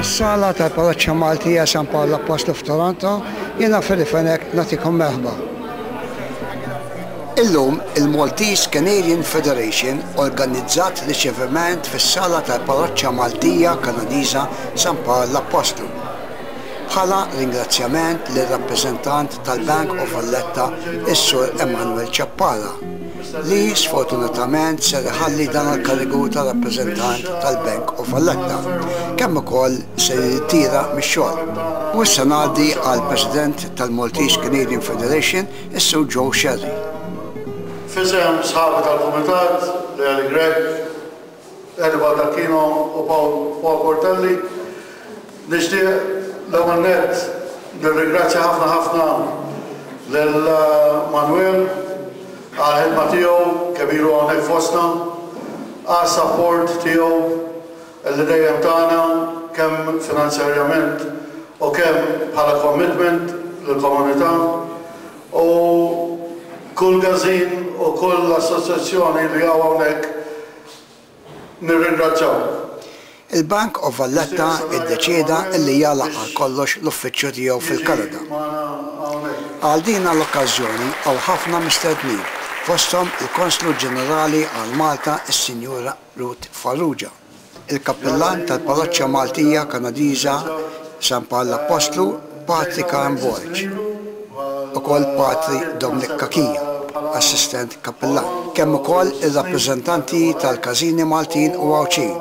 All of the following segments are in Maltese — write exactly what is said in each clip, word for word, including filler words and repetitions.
Mis-sala tal-Parroċċa Maltija San Pawl Appostlu f'Toronto, jiena Freddie Fenech nagħtikom merħba. Illum il-Maltese Canadian Federation organizzat riċeviment fis-sala tal-Parroċċa Maltija Kanadiża San Pawl Appostlu. Bħala ringrazzjament lir-rappreżentant tal-Bank of Valletta, is-Sur Emanuel Ciappara, li sfortunatament ser iħalli dan il-karigu ta' rappreżentant tal-Bank of Valletta, kemm ukoll se jirtira mix-xogħol. U issa ngħaddi għal President tal-Maltese Canadian Federation, is-Sur Joe Scerri. F'isem sħabi tal-Kumitat, Leali Grech, Eddie Baldacchino u Paul, Paul Portelli, nixtieq l-ewwel nett nirringrazzja ħafna ħafna lil Manuel għal-ħidma tiegħu kemm ilu hawnhekk fostna, għas-support tiegħu li dejjem tagħna kemm finanzjarjament u kemm bħala commitment lill-komunità u kull każin u kull assoċjazzjoni li hawn hawnhekk nirringrazzjaw. Il-Bank of Valletta iddeċieda li jagħlaq għal kollox l-uffiċċju tiegħu fil-Kanada. Għal din l-okkażjoni hawn ħafna mistednin, fosthom il-Konslu Ġenerali għal Malta is-Sinjura Ruth Farrugia, il-Kappillan tal-Parroċċa Maltija Kanadiża San Pawl Appostlu Patri Karm Borg, ukoll Patri Dominic Cachia, assistent kappillan, kemm ukoll ir-rappreżentanti tal-każini Maltin u Għawdxin,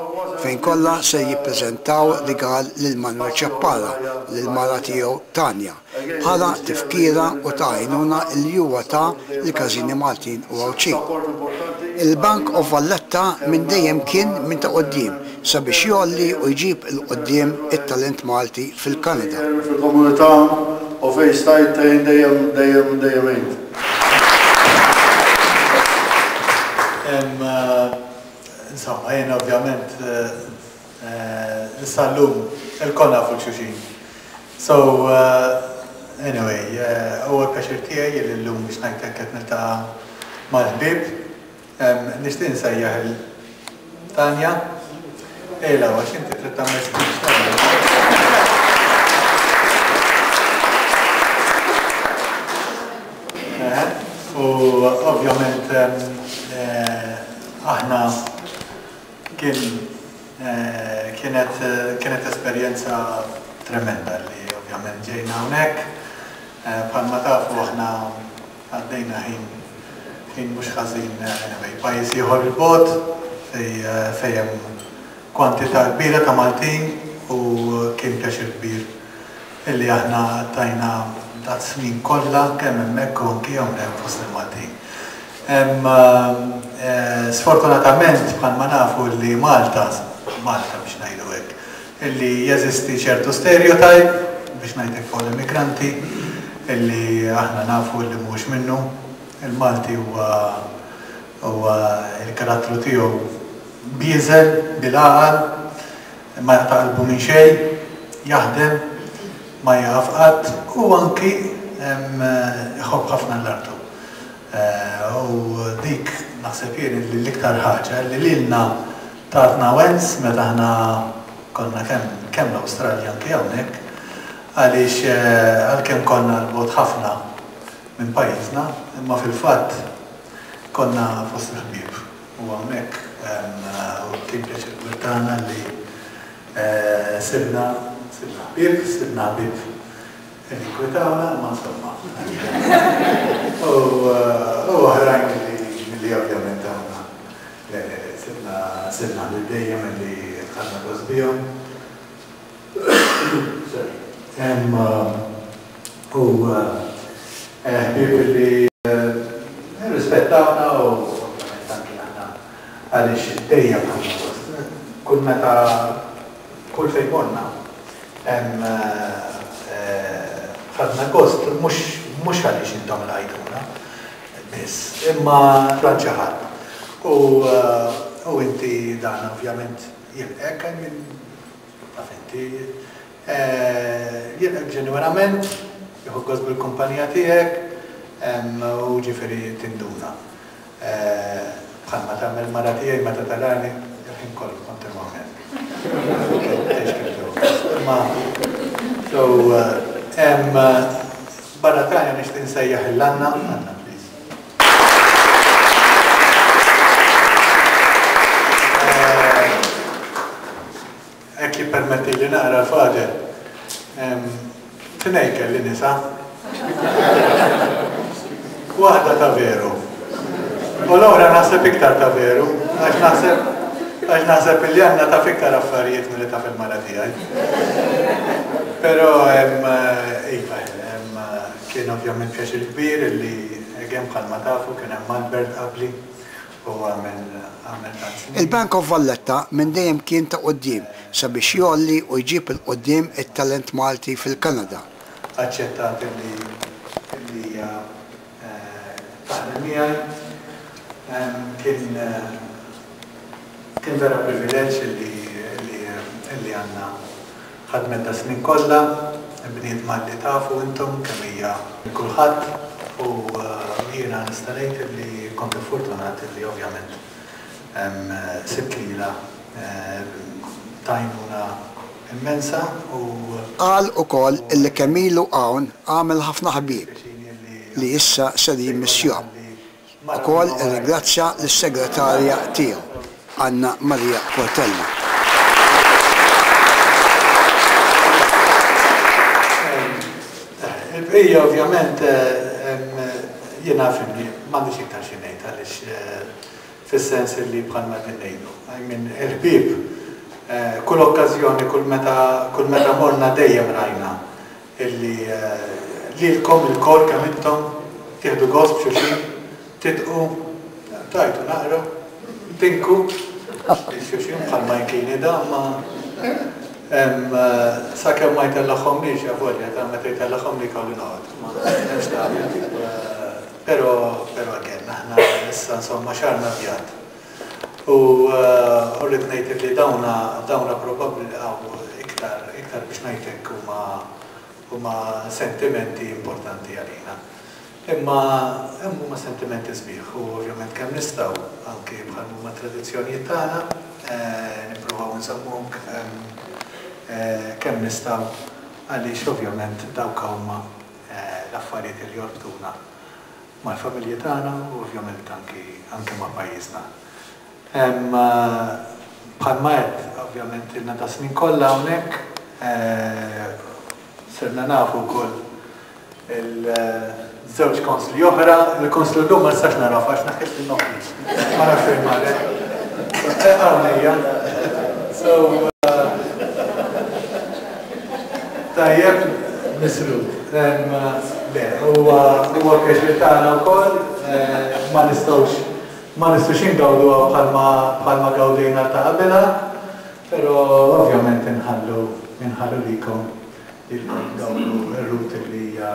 fejn kollha se jippreżentaw rigal lil Manuel Ciappara lil mara tiegħu Tanja, bħala tifkira u ta' għajnuna li huwa ta lill-każini Maltin u Għawdxin. Il-Bank of Valletta minn dejjem kien minn ta' quddiem sabiex jgħolli u jġib 'il quddiem it-talent Malti fil-Kanada. Fil-komunità u fejn stajt tgħin dejjem dejjem dejjem għint. Insomma, jien ovvjament issa llum ilkoll nafu xulxin. So, anyway, huwa pjaċir tiegħi li llum biex ngħid qed niltaqa' mal-ħbieb. Nixtieq insejjaħ il Tanja. Ejla, għax inti trid tagħmel speech tagħna. U ovvjament aħna kien kienet kienet esperjenza tremenda li ovvjament ġejna hawnhekk. Bħalma tafu aħna għaddejna ħin ħin mhux ħażin anyway, pajjiż ieħor il-bogħod fejn hemm kwantità kbira ta' Maltin u kien pjaċir kbir illi aħna tajna dat snin kollha kemm hemmhekk u anki hawnhekk fost il-Maltin. Sfortunatament bħalma nafu li Malta, Malta biex ngħidu hekk, illi jeżisti ċertu stereotype biex ngħidlek fuq l-immigranti illi aħna nafu li mhux minnu. Il-Malti huwa huwa il-karattru tiegħu bieżel, bil-għaqal, ma jaqta' qalbu minn xejn, jaħdem, ma jaqaf qatt u anki iħobb ħafna l-artu. U dik naħseb jien li l-iktar ħaġa li lilna tatna wens meta aħna konna kemm kemm l-Awstralja anki hawnhekk, għaliex għalkemm konna 'l bogħod ħafna minn pajjiżna, imma fil-fatt konna fost il-ħbieb. U hawnhekk u kien pjaċir kbir tagħna li sibna sibna ħbieb, sibna ħbieb li inkwetawna, ma insomma. U oħrajn li ovvjament aħna le le sibna sibna ħbieb dejjem li ħadna gost bihom. U ħbieb li rispettawna u ovvjament anki aħna għaliex dejjem ħadna gost. Kull meta kull fejn morna ħadna gost mhux għaliex intom lqajtuna biss, imma xi ħadd. U inti dan ovvjament jilqek, taf inti jilqek ġenwinament, jieħu gost bil-kumpanija tiegħek u ġifieri tinduna. Bħalma tagħmel mara tiegħi meta tarani il-ħin kollu kontinwament. Imma so hemm barra Tanja nixtieq insejjaħ lil Anna, Anna please. Hekk jippermetti li naqra l-Father. Tnejn kelli nisa. Waħda ta' veru. U l-oħra naħseb iktar ta' veru, għax naħseb għax naħseb li għandna taf iktar affarijiet milli taf il-mara tiegħi. Però hemm iva, hemm kien ovvjament pjaċir kbir illi again bħalma tafu kien hemm Albert qabli u għamel għamel tant snin. Il-Bank of Valletta minn dejjem kien ta' quddiem sabiex jgħolli u jġib 'il quddiem it-talent Malti fil-Kanada. Aċċettat illi illi hija taħdem miegħi. Kien kien vera privileġġ illi illi għandna ħadmet da snin kollha, bniedma li tafu intom kemm hija kulħadd u jiena nista' ngħid illi kont fortunat illi ovvjament sibt lilha t'għajnuna immensa u Qal ukoll illi kemm ilu hawn għamel ħafna ħbieb li issa ser jimmissjahom. Ukoll irringrazzja lis-segretarja tiegħu, Anna Maria Portella. Il-bqija ovvjament jiena fimni m'għandix iktar xi ngħid għaliex fis-sens li bħalma qegħdin ngħidu. I mean, il-ħbieb kull okkażjoni, kull meta kull meta morna dejjem rajna illi lilkom ilkoll kemm intom tieħdu gost b'xulxin, titqu, tajtu naqra, tinku xulxin bħalma kien da, ma sakemm ma jtellagħhomlix avolja ta' meta jtellagħhom li kollu noqgħod. Ma hemmx tagħmel. Però però again aħna issa insomma xarna bjad. U rrid ngħid li dawna dawna probabbli hawn iktar iktar biex ngħidlek huma huma sentimenti importanti għalina. Imma hemm huma sentimenti sbieħ u ovvjament kemm nistgħu anke bħal huma tradizzjonijiet tagħna nippruvaw nżommuhom kemm nistgħu għaliex ovvjament dawk huma l-affarijiet li jorbtuna mal-familji tagħna u ovvjament anki anke ma' pajjiżna. Bħalma għedt, ovvjament ilna ta' snin kollha hawnhekk, sirna nafu wkoll il-żewġ konsli oħra, il-konslu llum ma nistax nagħraf għax naħħilt in-nofli. Ma nafx fejn marret. Hawn hija. So tajjeb, misrut. Le, huwa huwa pjaċir tagħna wkoll, ma nistgħux ma nistgħux ingawduha bħalma bħalma gawdejna ta' qabilha, però ovvjament inħallu inħallu likom lilkom tgawdu r-root li hija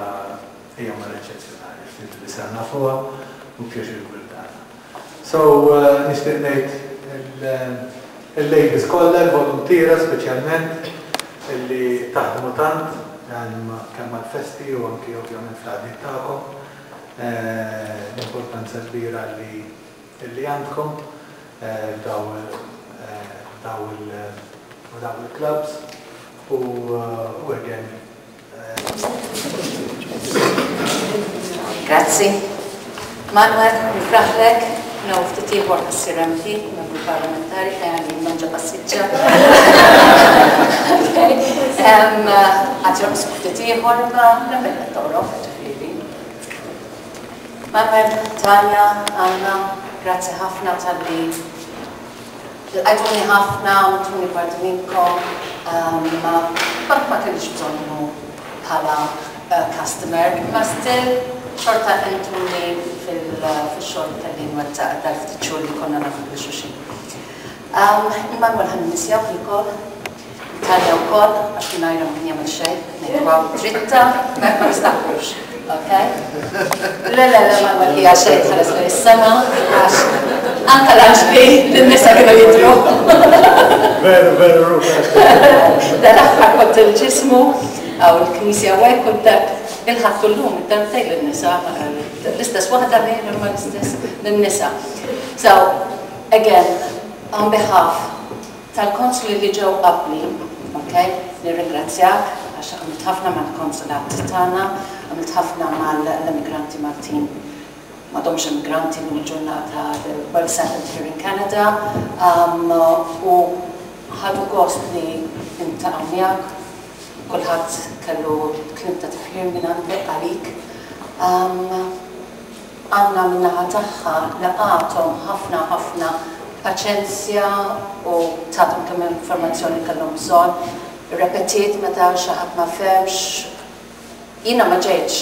hija mara eċċezzjonali, ftit li sar nafuha u pjaċir kbir tagħna. So nixtieq ngħid il-ladies kollha, il-voluntiera speċjalment illi taħdmu tant kemm għall-festi u anki ovvjament fl-għaqdiet tagħkom, l-importanza kbira li li għandkom f'daw daw il-clubs u again. Grazzi. Manuel, nifraħlek, no ftit ieħor ħassir M P, membru parlamentari, fejn għandi manġa passiġġa. Għad jonqsu ftit ieħor, ma nagħmel qed toqrob, ġifieri. Manuel, Tanja, Anna, grazzi ħafna talli lqajtuni ħafna, għamiltuni parti minnkom, ma ma kellix bżonnu bħala customer, ma still xorta entuni fil-xogħol tal-li nwettaq dal-ftit xhur li konna nafu lil xulxin. Immanuel ħan nisjaw ukoll, Tanja wkoll, għax mingħajrha ma kien jagħmel xejn, ngħidu dritta, ma nistaħbux. Okay? Le, le, le, Manuel hija xejn tħares lejn is-sema, għax anke l-anġli lin-nisa kienu jidhru. Veru, veru, Dal-aħħar kont il-ġismu, għaw il-knisja u hekk u dak il-ħadd llum id-darbtejn lin-nisa, l-istess waħda lejn imma l-istess lin-nisa. So, again, on behalf tal-konsli li ġew qabli, ma Okay? Nirringrazzjak għax għamilt ħafna mal-konsulat tagħna, għamilt ħafna mal-immigranti Maltin. M'għadhomx immigranti minn il-ġurnata well settled here in Canada um, u ħadu gost li niltaqgħu miegħek, kulħadd kellu kliem ta' tifħir minn għandek għalik. Um, Għanna min-naħa tagħha laqgħathom ħafna ħafna paċenzja u tathom kemm informazzjoni kellhom bżonn. Repetiet meta xi ħadd ma fehmx. Jiena ma ġejtx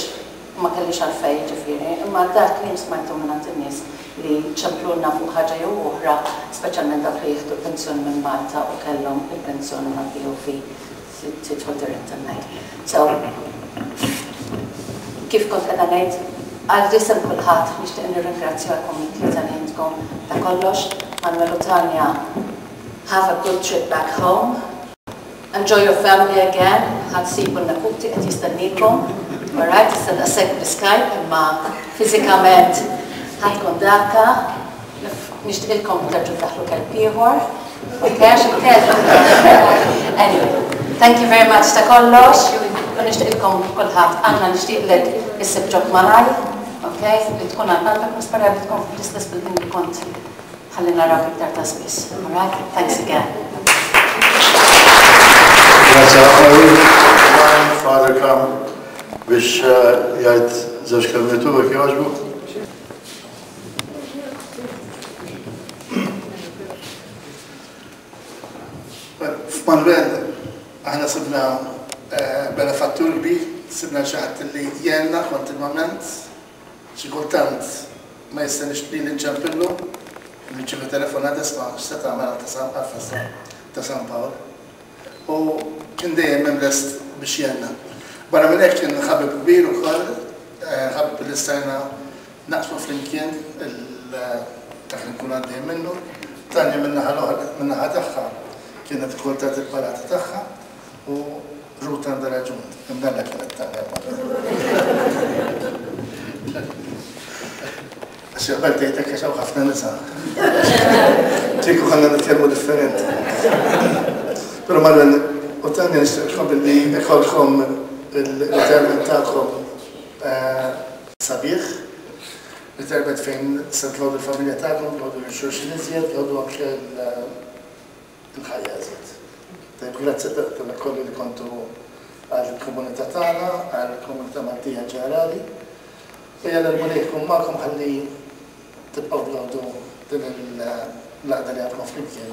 u ma kellix għalfejn ġifieri, imma dak li smajtu minn għand in-nies li ċemplulna fuq ħaġa jew oħra, speċjalment dawk li jieħdu pensjoni minn Malta u kellhom il-pensjoni mal-B O V tidħol dirett hemmhekk. So, kif kont qiegħda ngħid, għal isem kulħadd nixtieq nirringrazzjakom it-tlieta li intkom ta' kollox. Manuel u Tanja, have a good trip back home. Enjoy your family again. Ħa ssibu n-neputi qed jistennikom. Alright, issa daqshekk bl-Skype, imma fiżikament ħa tkun daka. Nixtieqilkom terġgħu daħlu kelb ieħor. Okay, għax il-kelb. Anyway, thank you very much ta' kollox. U nixtieqilkom kulħadd, Anna, nixtieqlek issib job malajr, okay, li tkun għandek nispera li tkun fl-istess building li kont ħalli narak iktar ta' spiss. Alright, thanks again. Grazie ħafna. Father come biex eh, jgħid żewġ kelmiet u jekk jogħġbu. F'Manuel, aħna sibna eh, benefattur kbir, sibna xi ħadd li jgħinna kontinwament, xi kultant ma jistenniex li nċempillu, nirċievi telefonata, "Isma', x'se tagħmel ta' San festa ta' San Pawl?" U kien dejjem hemm lest biex jgħinna. Barra minn hekk kien ħabib kbir ukoll, eh, ħabib li stajna naqsmu flimkien dak li nkun għaddej minnu. Tanja min-naħa l-oħra, min-naħa tagħha kienet ukoll tagħti il-palata tagħha u Ruth għandha raġun, imdalla kienet Tanja. Għax qabel tgħidlek għax hawn ħafna nisa. Kieku ħanna nitkellmu differenti. Però Manuel u Tanja, nixtieqkom billi ikollkom il-retirement tagħkom eh, sabiħ, retirement fejn se tgawdu l-familja tagħkom, tgawdu l-xulxin iżjed, tgawdu anke l-ħajja iżjed. Tajb, grazzi tal-kollu li kontu għal-komunità tagħna, għal-komunità Maltija ġenerali. U jalla l-Mulej jkun magħkom ħalli tibqgħu tgawdu din l-għaqda li għandkom flimkien.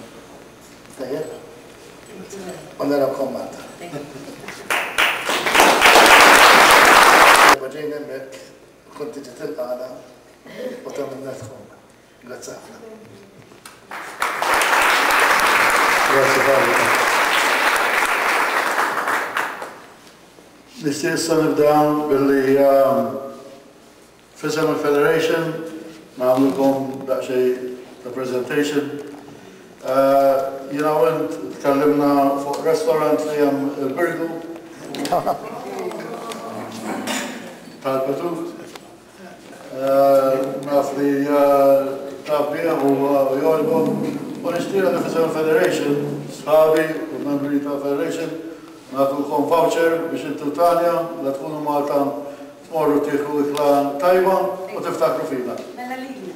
Tajjeb? U narawkom Malta. Ġejna hemmhekk, kont tiġi tilqagħna u tagħmilna tkun. Grazzi ħafna. Grazzi Father. Nixtieq issa nibda billi um, f'isem il-Federation nagħmlilkom daqsxejn ta' presentation. Uh, Jiena u int tkellimna fuq restaurant li hemm il-Birgu tal-Petut. Uh, Naf li uh, taf bih u jogħġbok. U nixtieq li f'isem il-Federation, sħabi u membri tal-Federation, nagħtukom voucher biex intu Tanja, la tkunu Malta tmorru tieħu ikla tajba u tiftakru fina. Mela lili.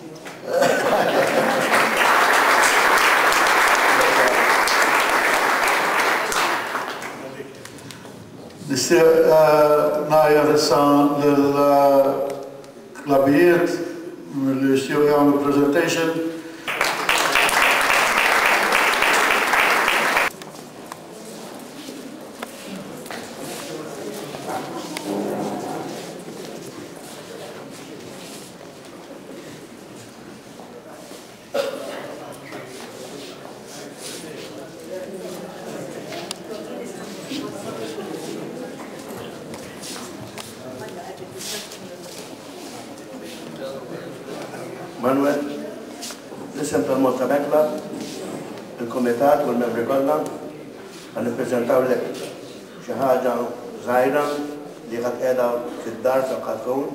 Nixtieq ngħajjat issa lill-klabijiet li jixtiequ jagħmlu presentation. Manuel, l-isem tal-Malta Bank Club, il-Komitat u l-membri kollha, ħa nippreżentawlek xi ħaġa żgħira li ħadd qiegħda fid-dar ta' tkun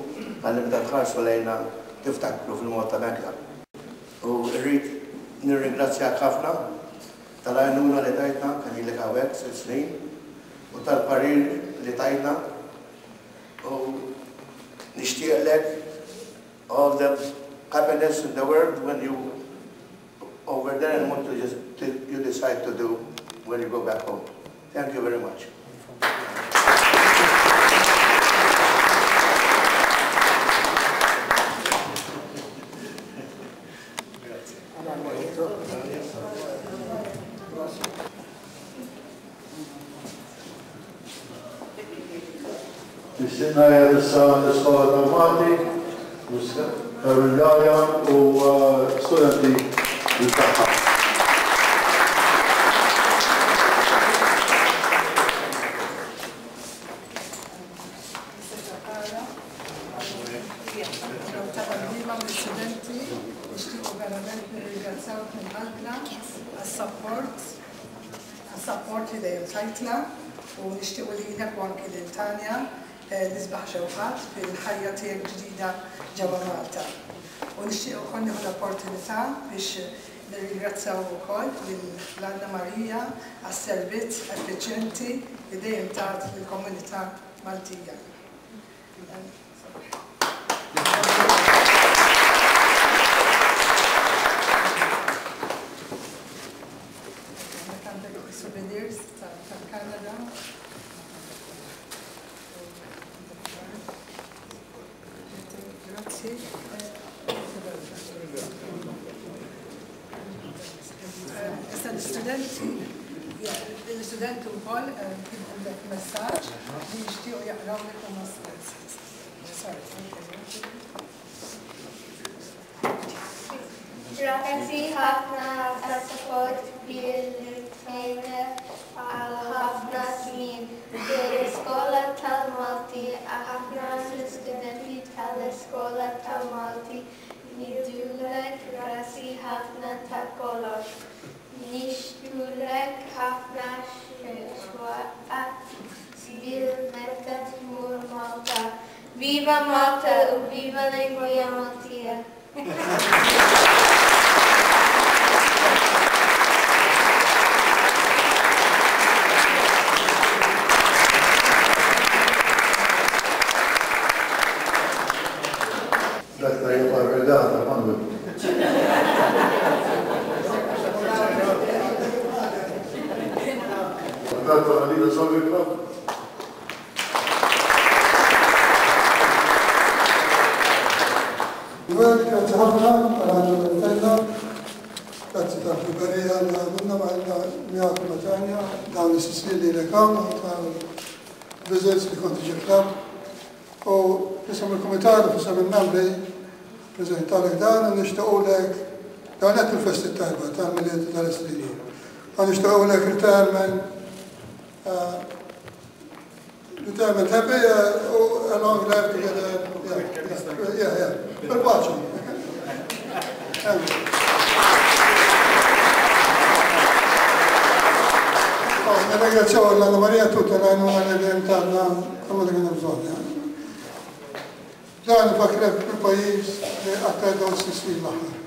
ħalli meta tħarsu lejna tiftakru fil-Malta Bank Club. U rrid nirringrazzjak ħafna Tal-għajnuna li tajtna kemm ilek hawnhekk sitt snin u tal-parir li tajtna u nixtieqlek all the happiness in the world when you over there and what you, just, you decide to do when you go back home. Thank you very much. Nixtieq ngħid issa l-Iskola tal-Malti, Karol u studenti tagħha. Studenti, nixtiequ verament nirringrazzjawk minn qalbna għas-support, għas-support li dejjem tajtna u nixtiequ lilek u anki lil Tanja l-isbaħ xewqat fil-ħajja tiegħek ġdida ġewwa Malta. U nixtieq ukoll nieħu l-opportunità biex nirringrazzjaw ukoll lil Anna Marija għas-servizz effiċjenti li dejjem tat lill-komunità Maltija. Għandek souvenirs tal-Kanada. Grazzi. Issa l-istudenti, l-istudenti wkoll kien għandek messaġġ li jixtiequ jaqrawlek huma stess. Sorry. Grazzi ħafna għas-support bil-tejna għal ħafna snin bil-Iskola tal-Malti, ħafna l-istudenti tal-Iskola tal-Malti ngħidulek grazzi ħafna ta' kollox. Nixtulek ħafna xewqat sbieħ meta tmur Malta. Viva Malta u viva lingwa Maltija! Dak tajjeb għal-regata, Manuel. Dak tal-Alida Soccer Club. Għed, grazzi ħafna għal-għandu l-tajna, grazzi tal-ħbiberija li għamilna maħna miegħek u Tanja, dawn is-snin li l-ekam, tal-visits li kont tiġi club. U f'isem il-kumitat u f'isem il-membri prezentalek dan u nixtiequlek dawn qed il-festi tajba tal-Milied u tal-Istrina. U nixtiequlek retirement retirement happy u a long life together. Yeah, yeah, yeah. Bil-paċi. Nirringrazzjaw l-Anna Maria tutta l-għajnuna li dejjem tagħna kull ma kien bżonn. Dan nfakrek fil-pajjiż li aktar dawn s-snin l-aħħar.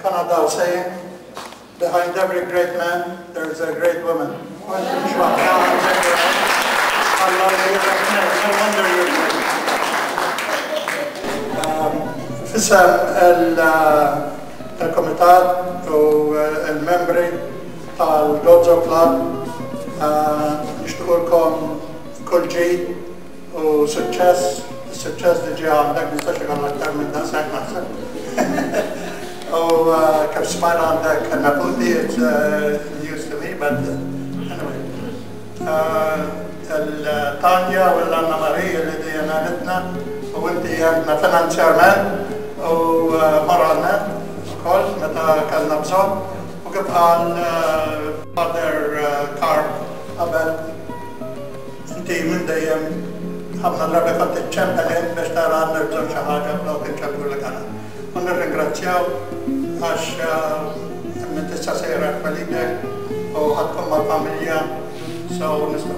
Canada saying, behind every great man, there is a great woman. No wonder you're great. F'isem il-Komitat u il-membri tal-Gozo Club nixtiequlkom kull ġid u suċċess, suċċess diġà għandek, nistax ikollok aktar minn daqshekk naħseb. U kif smajna għandek neputi, it's news to me, but anyway. Il-Tanja u l-Anna Maria li dejjem għanitna u inti għandna finanzjarment u moralment ukoll meta kellna bżonn u kif qal Father Karl qabel inti minn dejjem ħafna drabi kont iċċempel int biex tara għandek bżonn xi ħaġa flok iċċemplu lek aħna. U nirringrazzjaw Għax minn tista' sejra twelidek u ħadkom mal-familja, so nistgħu.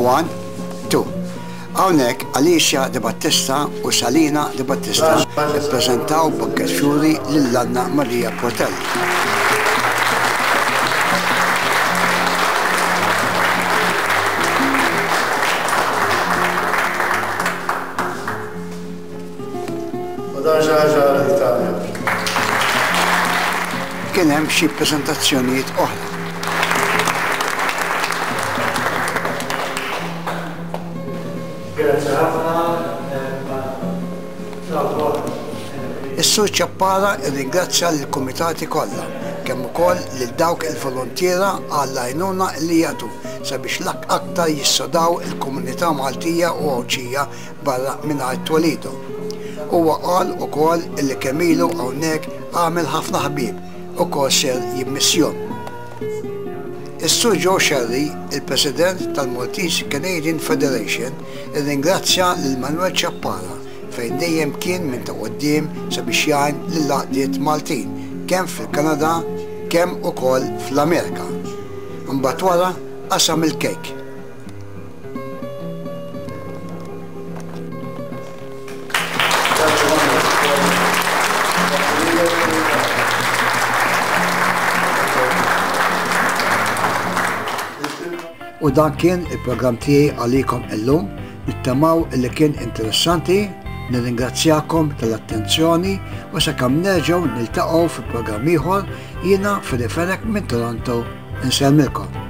One, two. Hawnhekk Alicia De Battista u Salina De Battista ippreżentaw bukket fjuri lil Anna Maria Portelli. Kien hemm xi preżentazzjonijiet oħra. Is-Sur Ciappara rringrazzja lill-kumitati kollha, kemm ukoll lil dawk il-volontiera għall-għajnuna li jagħtu sabiex l-aktar jissodaw il-komunità Maltija u Għawdxija barra mingħajr twelidu. Huwa qal ukoll li kemm ilu hawnhekk għamel ħafna ħbieb ukoll ser jimmissjon. Is-Sur Joe Sherry, il-President tal-Maltese Canadian Federation, irringrazzja lil Manuel Ciappara fejn dejjem kien minn ta' quddiem sabiex jgħin lill-għaqdiet Maltin kemm fil-Kanada kemm ukoll fl-Amerika. Imbagħad wara qasam il-kejk. U dan kien il-programm tiegħi għalikom illum, nittamaw li kien interessanti. Nirringrazzjakom tal-attenzjoni u sakemm nerġgħu niltaqgħu fi programm ieħor, jiena Fili Fenech minn Toronto insellmilkom.